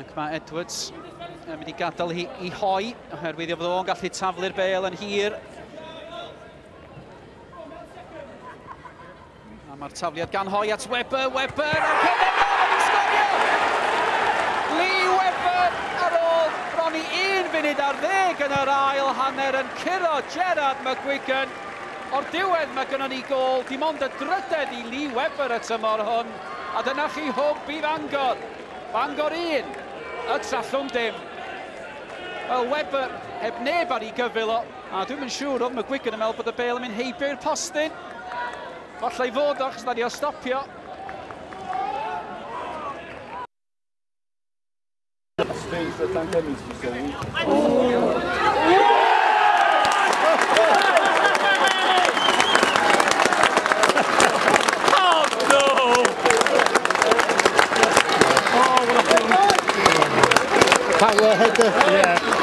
Ac mae Edwards yn mynd i gadael hi i hoi, oherwydd i fod o'n gallu taflu'r bêl yn hir. A mae'r tafliad gan Hoi at Webber, Webber, ac yna mae'n sgorio! Lee Webber ar ôl bron i 11 munud yn yr ail hanner yn curo Gerard McGuigan. O'r diwedd mae gynnon ni gôl, dim ond y drydedd i Lee Webber y tymor hwn. A dyna chi hwb i Fangor. Bangor 1, y Trallwng dim. Wel, Webber heb neb ar ei gyfyl o, a dwi'm yn siŵr oedd McGuigan yn meddwl bod y bêl yn mynd heibio i'r postyn. Falle i fod o, achos na di o stopio. Oh no! Oh, what a Power header. Yeah.